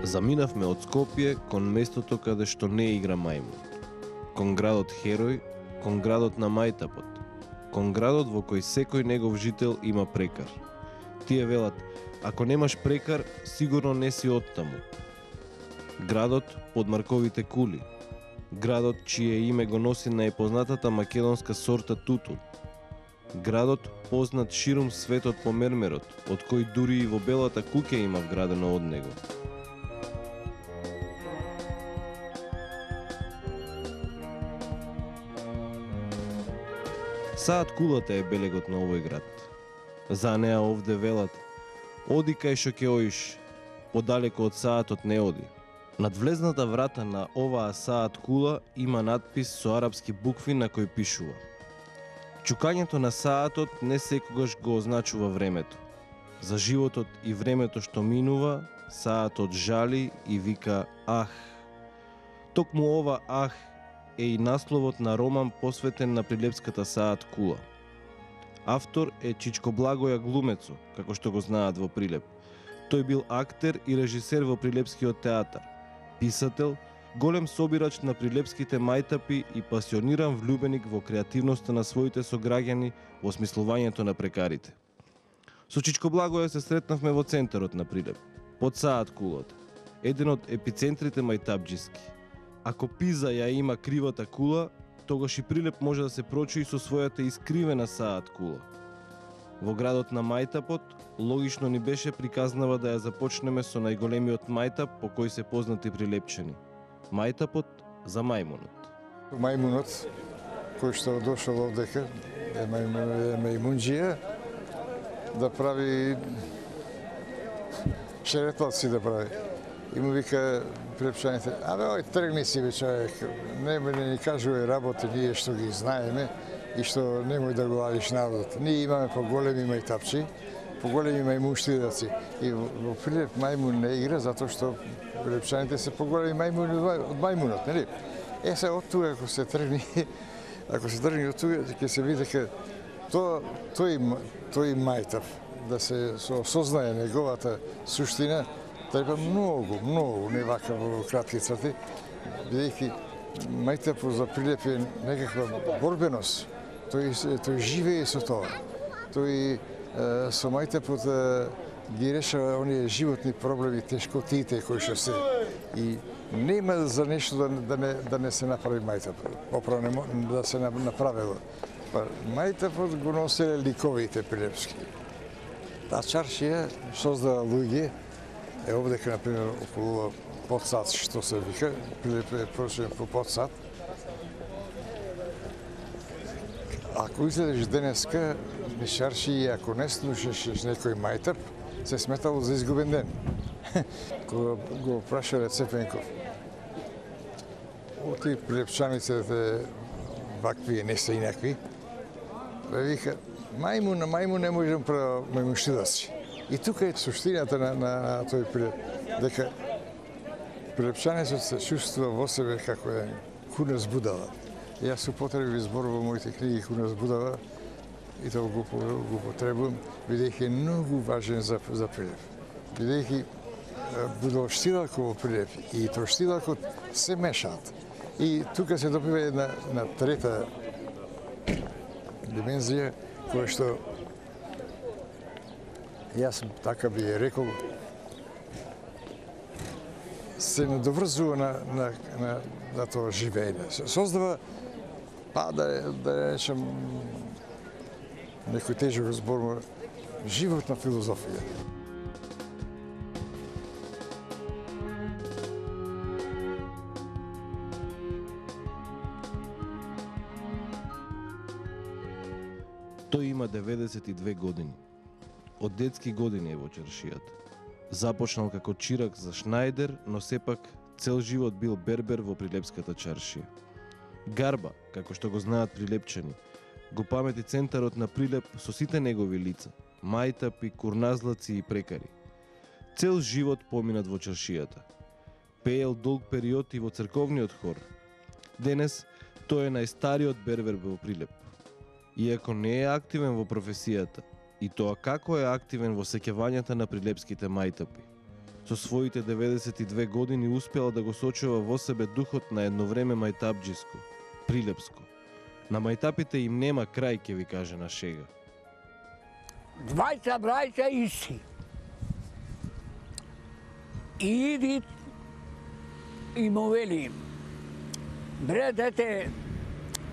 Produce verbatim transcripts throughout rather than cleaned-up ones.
Заминавме од Скопје кон местото каде што не игра мајмун. Кон градот Херој, кон градот на мајтапот, кон градот во кој секој негов жител има прекар. Тие велат, ако немаш прекар, сигурно не си оттаму. Градот под марковите кули. Градот чие име го носи најпознатата македонска сорта тутун. Градот познат ширум светот по мермерот, од кој дури и во Белата куќа има вградено од него. Саат Кулата е белегот на овој град. За неа овде велат, оди кај шо ќе оиш, подалеку од Саатот не оди. Над влезната врата на оваа Саат Кула има надпис со арапски букви на кој пишува: чукањето на Саатот не секогаш го означува времето. За животот и времето што минува, Саатот жали и вика ах. Токму ова ах е и насловот на роман посветен на прилепската Саат Кула. Автор е Чичко Благоја Глумецо, како што го знаат во Прилеп. Тој бил актер и режисер во Прилепскиот театар, писател, голем собирач на прилепските мајтапи и пасиониран влюбеник во креативноста на своите сограѓани во осмислувањето на прекарите. Со Чичко Благоја се сретнавме во центарот на Прилеп, под Саат Кулата, еден од епицентрите мајтапџиски. Ако Пиза ја има кривата кула, тогаш и Прилеп може да се прочуи со својата искривена Саат Кула. Во градот на мајтапот, логично ни беше приказнава да ја започнеме со најголемиот мајтап по кој се познати прилепчани. Мајтапот за мајмунот. Мајмунот, кој што дошол овдека, е мајмунџија, да прави шереталци да прави. И му вика прилепчаните, абе, ој, тргни си, бе, човек, не ме ни кажувај работи, ние што ги знаеме и што немој да го ладиш народот. Ние имаме поголеми мајтапчи, поголеми мајмунштидаци. И во Прилеп мајмун не игра, затоа што прилепчаните се поголеми мајмуни од мајмунот, нели? Е, се, од тука, ако се тргни, ако се тргни од тука, ќе се види дека тоа, тој, тој мајтап, да се осознае неговата суштина, треба многу, многу, не вака во кратки црти, бидејќи мајтапот за Прилеп е некаква борбеност. Тој, тој живее со тоа. Тој е, со мајтапот ги решава оние животни проблеми, тешкотиите кои што се. И нема за нешто да, да, не, да не се направи мајтап. Оправо да се направило. Па, мајтапот го носеле ликовите прилепски. Таа чаршија создава луѓе. Е, овдека, например, околу Подсад, што се вика, Прилеп е прочен по Подсад. Ако излезеш денеска, мишарши и ако не слушаш некој мајтап, се сметало за изгубен ден. Кога го прашале Цепенков, оти прилепчаните вакви не се инакви, бе вика, мајмун на мајмун не може да прави мајмунштидаци. И тука е суштината на, на, на тој Прилеп, дека прилепчанецот се чувствува во себе како е куна збудала. Јас употреби зборува моите книги куна збудала и тоа го, го потребувам, бидејќи е многу важен за, за Прилеп. Бидејќи будалштилакот во Прилеп и тоштилакот се мешаат. И тука се добива една на трета димензија, која што јас така би ја рекол, се надоврзува на, на, на, на тоа живење. Создава, па да, да речем, некој тежок збор, животна филозофија. Тој има деветдесет и две години. Од детски години е во чаршијата. Започнал како чирак за Шнајдер, но сепак цел живот бил бербер во Прилепската чаршија. Гарба, како што го знаат прилепчани, го памети центарот на Прилеп со сите негови лица, мајтапи, курназлаци и прекари. Цел живот поминат во чаршијата. Пеел долг период и во црковниот хор. Денес тој е најстариот бербер во Прилеп. Иако не е активен во професијата, и тоа како е активен во сеќавањата на прилепските мајтапи. Со своите деветдесет и две години успела да го сочува во себе духот на едно време мајтапџиско, прилепско. На мајтапите им нема крај, ќе ви каже на шега. Двајца брајца исти. И иди и му вели, бре дете,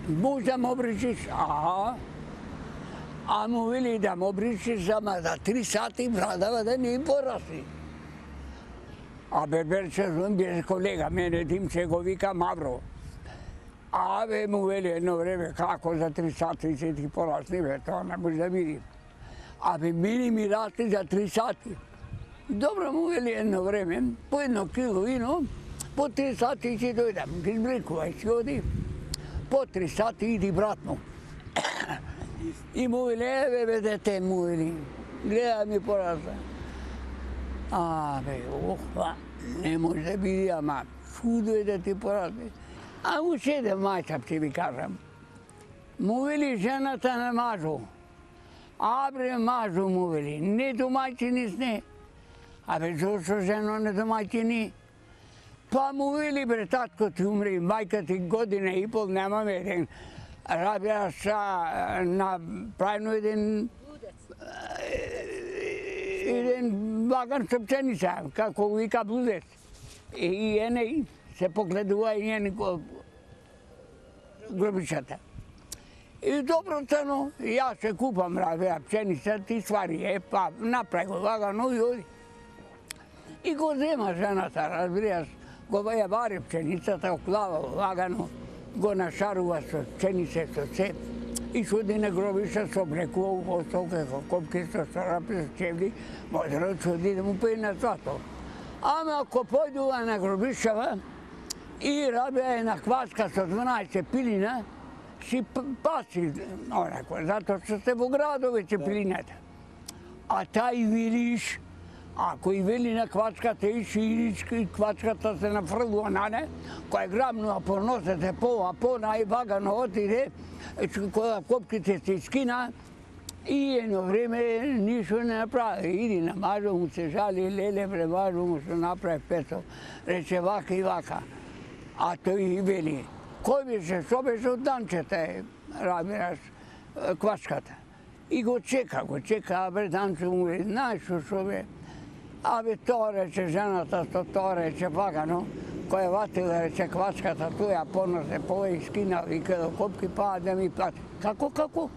може да ме обричиш? Аха. А му вели да ме обричиш, ама за три сати брадава да не пораси. А берберче беше колега, мене Димче го вика Мавро. Абе му вели едно време, како за три сати се ти порасни, бе, тоа не може да види. Абе мини ми расти за три сати. Добро му вели едно време, по едно кило вино, по три сати ќе дојдам, ги избрикувај, си оди. По три сати иди братно. И му вели, еве бе дете, му вели, гледа ми порасна. Абе, охва, не може да биде, ама чудо е да ти порасне. А му седе мајчап, ќе ви кажам. Му вели жената на мажу. Абре мажу му вели, не домајчини сне. Абе, зошто жено не домајчини? Па му вели, бре, татко ти умре, мајка ти година и пол, немаме еден. Рабија са направено еден еден ваган со пченица, како го вика блудец. И ене се погледува и ене гробичата. И добро цено, јас се купам рабија пченица, ти свари е, па направи го вагано и оди. И го зема жената, разбираш, го ја бари пченицата, оклава вагано, го нашарува со пченице, со се, и шуди на гробиша со облекува во стока, копки со сарапи, со чевли, може да чуди да му пее на свато. Ама ако појдува на гробишава и рабија е на кваска со дванаесет пилина, си паси, онако, затоа што сте во градовите пилината. А тај вилиш, ако и вели на квачката и ширичка и квачката се нафрлува на не, која грабнува по носете по, а по највагано отиде, кога копките се искина, и едно време ништо не направи. Иди на мажо му се жали, леле бре мажо му се направи песо, рече вака и вака. А тој и вели, кој беше, што беше од Данчета, разбираш, квачката. И го чека, го чека, а бре Данче му вели, знаеш што бе, абе тоа рече жената, што тоа рече вагано, која ватила рече квачката, тоја поносе по и скина, вика до копки, па да ми плати. Како, како?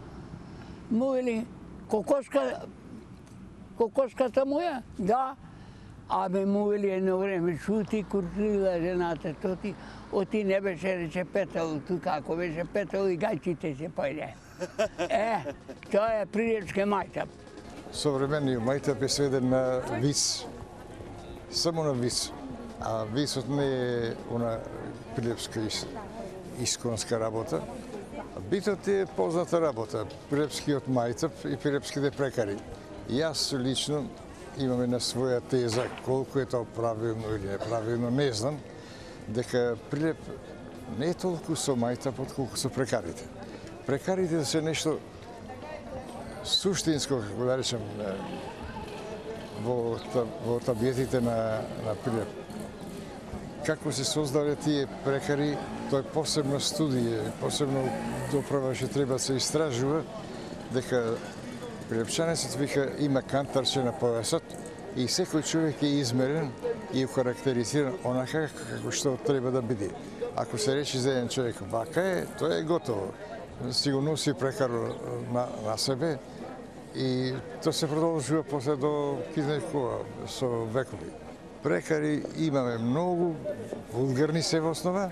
Му вели, кокошка, кокошката моја? Да. Абе му вели едно време, шути куртила жената, то ти, оти не беше рече петал, тука ако беше петал и гајчите се појде. Е, тоа е прилепски мајтап. Современиот мајтап е сведен на вис, само на вис. А висот не е она прилепска исконска работа. Битот е позната работа, прилепскиот мајтап и прилепските прекари. Јас лично имаме на своја теза, колку е тоа правилно или неправилно, не знам, дека Прилеп не е толку со мајтапот колку со прекарите. Прекарите се нешто суштинско, како да речем, во, во табиетите на, на Прилеп. Како се создале тие прекари, тоа е посебна студија, посебно доправа што треба се истражува, дека прилепчанецот вика има кантарче на појасот и секој човек е измерен и укарактеризиран онака како што треба да биде. Ако се рече за еден човек вака е, тоа е готово. Си го носи прекар на, на себе и тоа се продолжува после до кога со векови. Прекари имаме многу, вулгарни се во основа,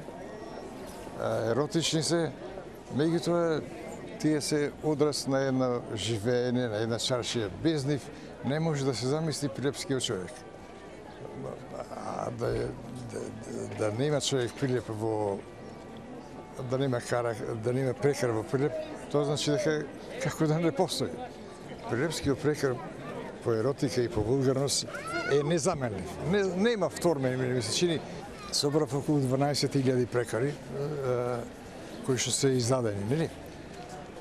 еротични се, меѓутоа тие се одраз на една живеење, на една чаршија. Без нив не може да се замисли прилепскиот човек. А да, е, да, да нема човек Прилеп во да нема кара, да нема прекар во Прилеп, тоа значи дека како да не постои. Прилепскиот прекар по еротика и по вулгарност е незаменлив. Не, нема втормени, ми се чини. Собрав околу дванаесет илјади прекари кои што се издадени, нели?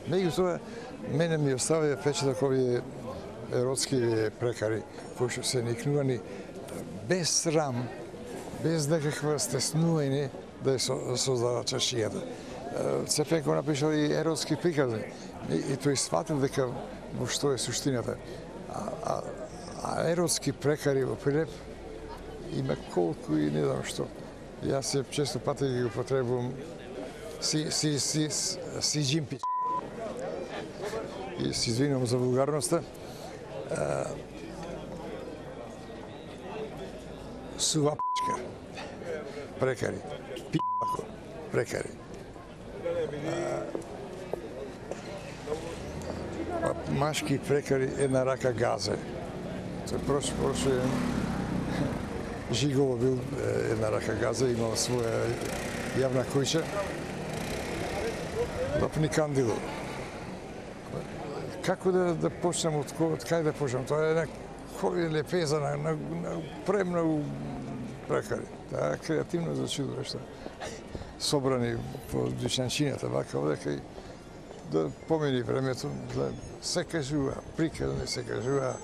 Меѓутоа, мене ми оставија впечаток овие еротски прекари кои што се никнувани без срам, без некаква стеснување да ја создава чаршијата. Цепенко напишал и еротски приказни и, и тој сватил дека во што е суштината. А, а, а еротски прекари во Прилеп има колку и не знам што. Јас се често пати ги употребувам си, си, си, си, си джимпи. И се извинувам за вулгарноста. Сува п***ка. Прекари. Пи***ко. Прекари. А, машки прекари една рака газе. Тој прош, прошле Жигово бил една рака газа, имал своја јавна куќа. Лапни кандило. Како да, да почнем од, од кај да почнем? Тоа е една кој лепеза на, на, на премногу прекари. Таа креативно зачудувашта. Собрани по дуќанчината, вака одека и да помени времето, да се кажува, приказни се кажува,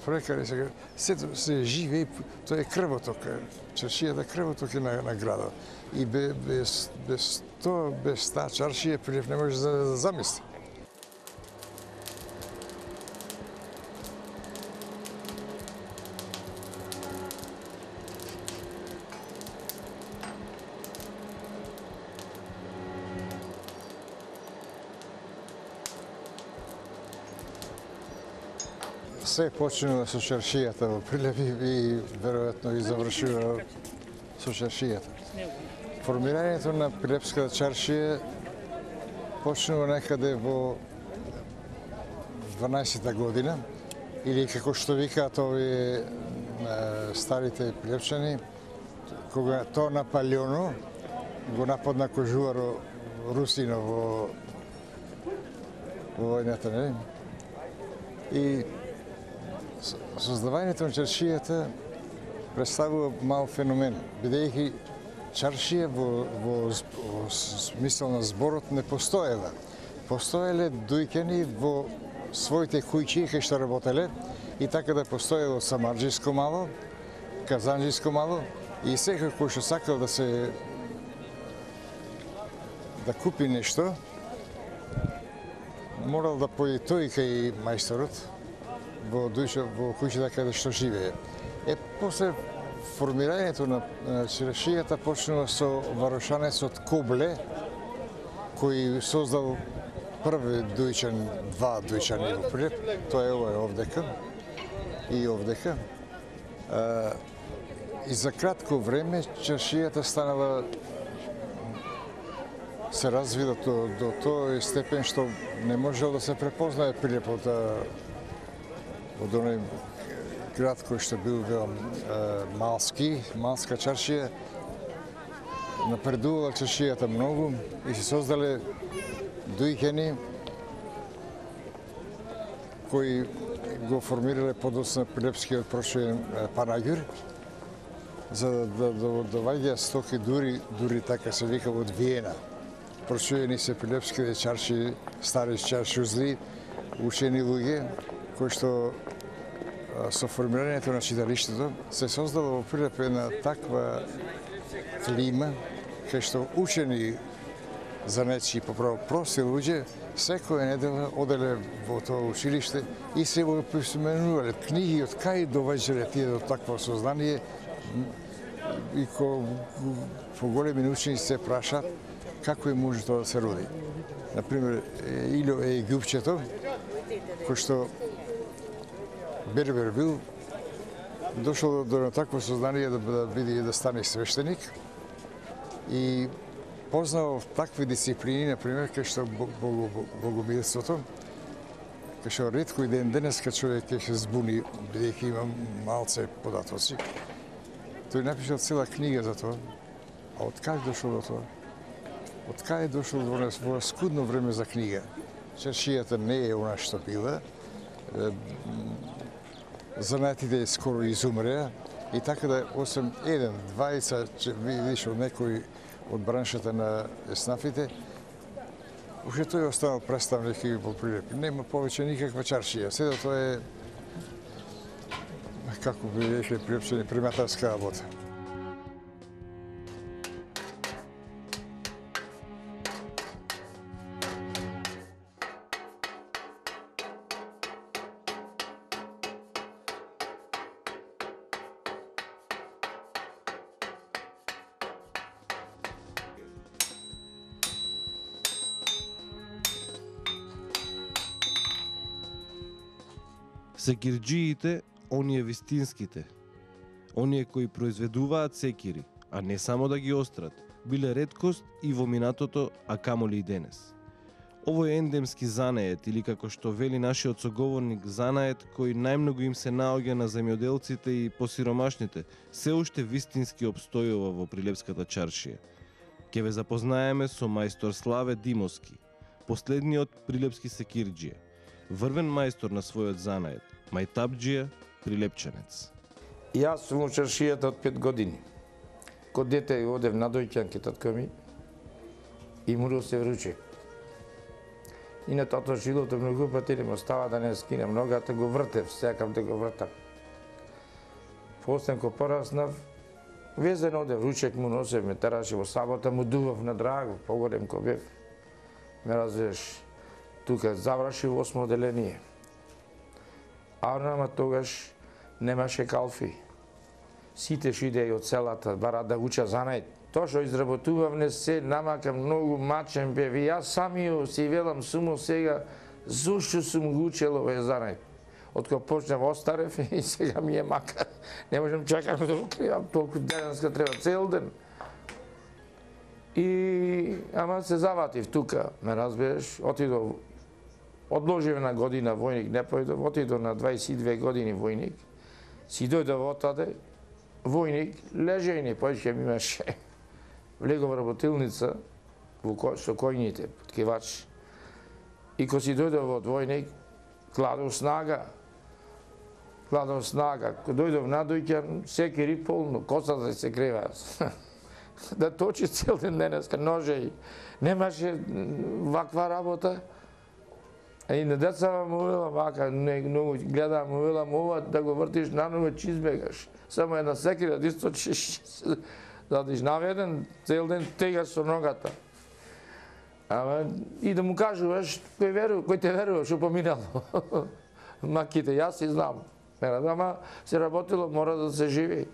прекари се кажува, сето се живе, тоа е крвоток, чаршијата крвоток е на, на градот. И без, без тоа, без таа чаршија, Прилеп не може да, да замисли. Се почнува со чаршијата во Прилеп и веројатно и завршува со чаршијата. Формирањето на Прилепската чаршија почнува некаде во дванаесетта година, или како што викаат овие старите прилепчани, кога тоа Наполеоно го нападна Кожуваро Русино во во војната, нели? И создавањето на чаршијата представува мал феномен, бидејќи чаршија во, во, во смисол на зборот не постоела. Постоеле дојќани во своите куќи кај што работеле и така да постоело самарџиско мало, казанџиско мало и секој кој што сакал да се да купи нешто, морал да појде тој кај мајсторот во душа во куќата каде што живее. Е после формирањето на, на чаршијата почнува со варушанецот Кобле, кој создал први дујчан, два дујчани во Прилеп, тоа е ова овдека и овдека. А, и за кратко време чаршијата станала се развива до, до тој степен што не можел да се препознае Прилеп од од оној град кој што бил велам малски, малска чаршија. Напредувала чаршијата многу и се создале дујќани кои го формирале подоцна Прилепскиот прошен Панаѓур, за да доваѓа стоки дури, дури така се вика од Виена. Прошуени се прилепските чарши, стари чаршузли, учени луѓе, кои што со формирањето на читалиштето се создала во Прилеп една таква клима, кај што учени занечи, поправо прости луѓе, секоја недела оделе во тоа училиште и се го присменувале книги од кај доваѓале тие до такво сознание и ко поголеми учени се прашаат како е може тоа да се роди. Например, Илјо Египчето, кој што бербер бил, дошол до такво сознание да, да биде да стане свештеник и познал такви дисциплини, например, кај што богомилството, кај што ретко и ден денеска човек ќе се збуни, бидејќи има малце податоци. Тој напишал цела книга за тоа. А од кај дошол до тоа? Од кај дошол во во скудно време за книга? Чаршијата не е она што била. Занатите скоро изумреа и така да осем еден, двајца, видиш од некој од браншата на еснафите, уште тој останал представник и во Прилеп. Нема повеќе никаква чаршија. Седо тоа е, како би рекли прилепчени, приматарска работа. Секирџиите, оние вистинските, оние кои произведуваат секири, а не само да ги острат, биле реткост и во минатото, а камоли и денес. Овој ендемски занает, или како што вели нашиот соговорник, занает кој најмногу им се наоѓа на земјоделците и посиромашните, се уште вистински обстојува во прилепската чаршија. Ке ве запознаеме со мајстор Славе Димовски, последниот прилепски секирџија, врвен мајстор на својот занает, мајтапџија, прилепчанец. Јас сум во чаршијата од пет години. Ко дете одев на дојќан ке татко ми и морал се вруче. И на тото жилото многу пати не ме остава да не скинем ногата, го вртев, секам да го вртам. После ко пораснав, везен одев, ручек му носев, ме тераше во сабота, му дував на Драгов, погодем ко бев. Ме развеш, тука заврши во осмо оделение. А нама тогаш немаше калфи. Сите што идеја од селата, бара да уча занает. Тоа што изработувавме се, намака многу мачен бев. И јас самиот си велам сумо сега, зошто сум го учел овој занает. Откако почнав остарев и сега ми е мака. Не можам чакам да го кривам, толку денеска треба цел ден. И ама се заватив тука, ме разбереш, отидов, одложив на година војник, не појдов, отидов на двајсет и две години војник, си дојдов отаде, војник, лежејни, појќе ми имаше. Влегов работилница во со којните, ткивач. И ко си дојдов од војник, кладов снага. Кладов снага. Ко дојдов на дојќан, секири полно, косата се крева. Да точи цел ден денеска, ножеј. Немаше ваква работа. И на децава му велам вака, не, многу гледам, му велам ова да го вртиш наново, че избегаш. Само една секира да источиш, задиш наведен, цел ден тегаш со ногата. Ама и да му кажуваш, кој верува, кој те верува, што поминало. Маките, јас си знам. Ама се работило, мора да се живи.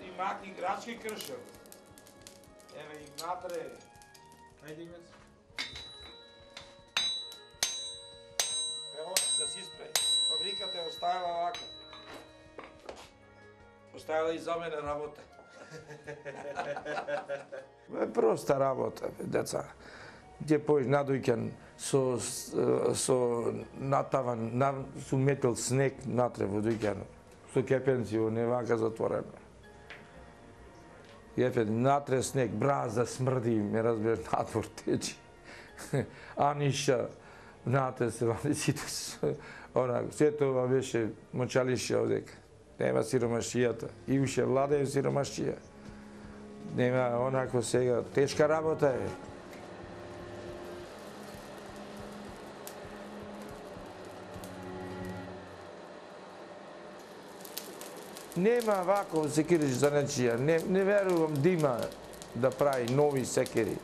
И маки грачки кршел. Еве и натре. Ајде имец. Ево да си спре. Фабриката е оставила вака. Оставила и за мене работа. Е проста работа, деца. Где појш надојќан со со натаван, на, со метел снег натре во дојќано. Со кепенци во не вака затворено. Јефе натре снег, бразда смрди, ме разбереш, надвор течи. Аниша, натре се вади сите, она, се тоа беше мочалище овдека. Нема сиромашијата. И уште влада е сиромашија. Нема онако сега, тешка работа е. Нема вако секириш за нечија. Не, не верувам да има да прави нови секири.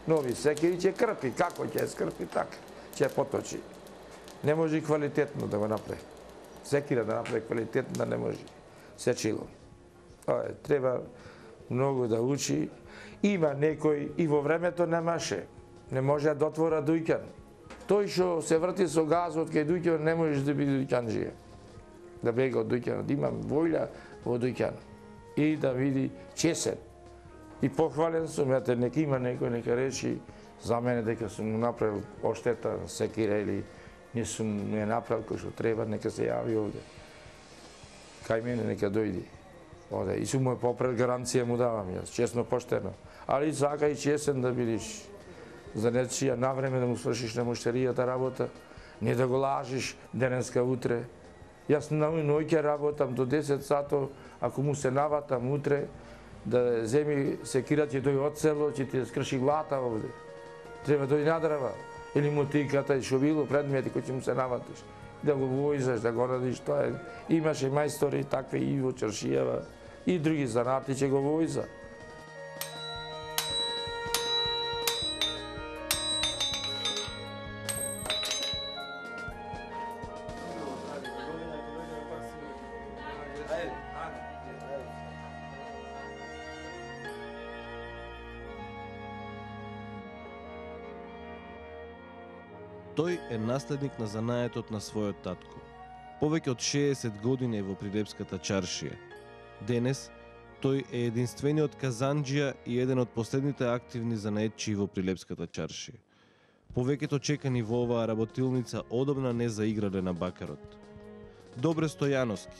Нови секири ќе крпи. Како ќе скрпи, така. Ќе поточи. Не може и квалитетно да го направи. Секира да направи квалитетно, да не може. Сечило. Ое, треба многу да учи. Има некој и во времето немаше. Не може да отвора дојќан. Тој што се врти со газот кај дојќан не можеш да биде дојќанџија. Да бега од дојќан, да имам војля во дуќан и да види чесен. И похвален сум, ете, нека има некој, нека реши за мене дека сум му направил оштета, секира или не сум не направил кој што треба, нека се јави овде. Кај мене нека дојди. Оде, и сум му попред гаранција му давам јас, честно, поштено. Али сака и чесен да бидиш за нечија навреме да му свршиш на муштеријата работа, не да го лажиш денеска утре. Јас на ноќе работам до десет сато, ако му се наватам утре, да земи секира ќе тој од село, ќе ти скрши глата овде. Треба тој надрава. Или мотиката и шовило, предмети кои ќе му се наватиш. Да го војзаш, да го радиш, тоа е. Имаше мајстори такви и во Чаршијава, и други занати ќе го војза. Тој е наследник на занаетот на својот татко. Повеќе од шеесет години во Прилепската чаршија. Денес, тој е единствениот казанџија и еден од последните активни занаетчии во Прилепската чаршија. Повеќето чекани во оваа работилница одобна не заиграле на бакарот. Добре Стојановски,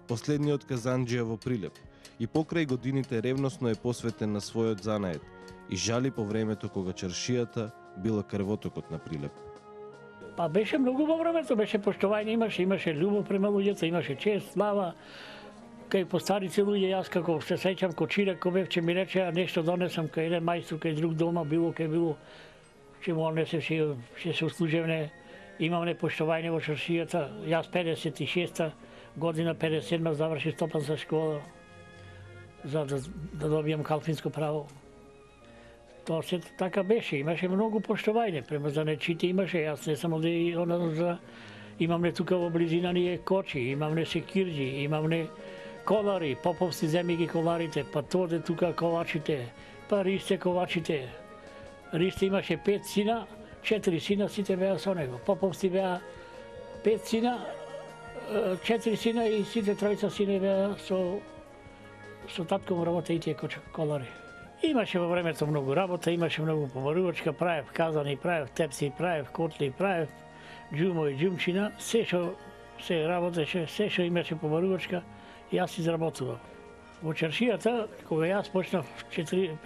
последниот казанџија во Прилеп, и покрај годините ревносно е посветен на својот занает и жали по времето кога чаршијата била крвотокот на Прилеп. Па беше многу во времето, беше поштовање, имаше, имаше љубов према луѓето, имаше чест, слава. Кај постарици луѓе, јас како се сеќам ко чирак, ко бев, че ми речеа нешто донесам кај еден мајстор, кај друг дома, било кај било, че му однесе, че, че се услужевне, имам непоштовање во чаршијата. Јас педесет и шеста година, педесет и седма заврши стопанска школа, за да, да добијам калфинско право. Тоа се така беше, имаше многу поштовање, према занечите имаше, јас не само да за... имам не тука во близина ни е кочи, имам не секирџи, имам не колари, поповски земи ги коларите, па тоде тука ковачите, па Ристе ковачите. Ристе имаше пет сина, четири сина, сите беа со него. Поповски беа пет сина, четири сина и сите тројца сина беа со, со татко му работа и тие колари. Имаше во времето многу работа, имаше многу помарувачка, правев казани, правев тепси, правев котли, правев џумо и џумчина, се што се работеше, се што имаше помарувачка, јас изработував. Во чаршијата, кога јас почнав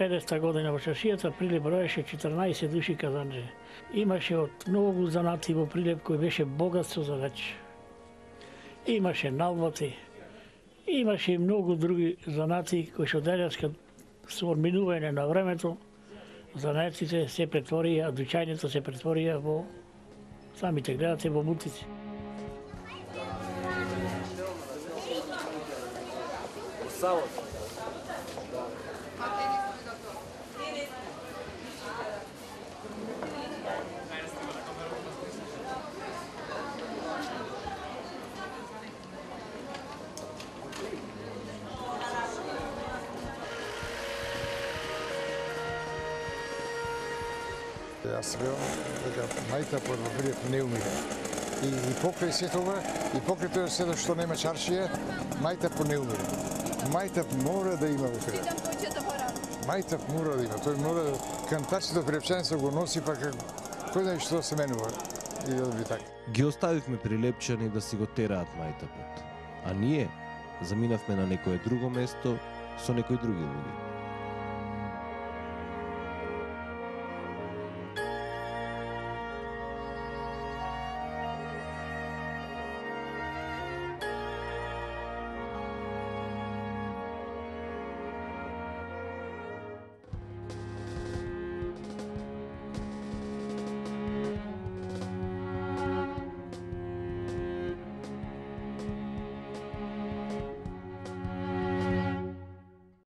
педесета година во чаршијата, Прилеп броеше четрнаесет души казанџи. Имаше од многу занати во Прилеп кој беше богатство за веч. Имаше налботи, имаше и многу други занати кои што денеска со одминување на времето, занаетците се претворија, дуќањето се претворија во, самите гледате, во мутици. Јас велам дека мајтапот во Прилеп не умира. И, и покрај се тоа, и покрај тоа се што нема чаршија, мајтапот не умира. Мајтап мора да има во Прилеп. Мајтап мора да има. Тој мора да кантачето прилепчаница го носи, па кој знае што се менува. И да би така. Ги оставивме прилепчани да си го тераат мајтапот. А ние заминавме на некое друго место со некои други луѓе.